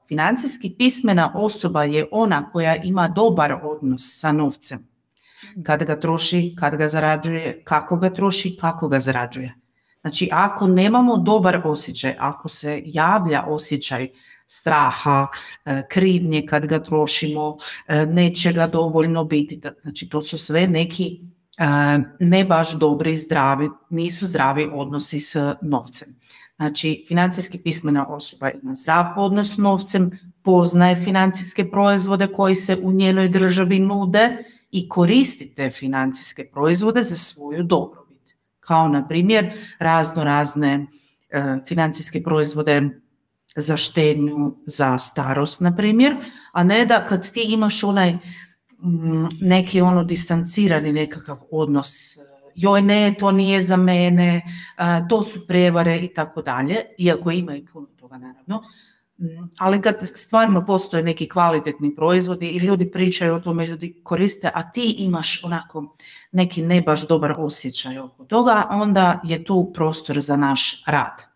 financijski pismena osoba je ona koja ima dobar odnos sa novcem. Kad ga troši, kad ga zarađuje, kako ga troši, kako ga zarađuje. Znači, ako nemamo dobar osjećaj, ako se javlja osjećaj straha, krivnje kad ga trošimo, neće ga dovoljno biti, znači to su sve neki ne baš dobri, zdravi, nisu zdravi odnosi s novcem. Znači, financijski pismena osoba ima zdrav odnos s novcem, poznaje financijske proizvode koji se u njenoj državi nude i koristi te financijske proizvode za svoju dobrobit. Kao, na primjer, razne financijske proizvode za štednju, za starost, na primjer, a ne da kad ti imaš onaj neki distancirani nekakav odnos, joj ne, to nije za mene, to su prevare i tako dalje, iako ima i puno toga naravno, ali kad stvarno postoje neki kvalitetni proizvodi i ljudi pričaju o tome, ljudi koriste, a ti imaš onako neki ne baš dobar osjećaj oko toga, onda je tu prostor za naš rad.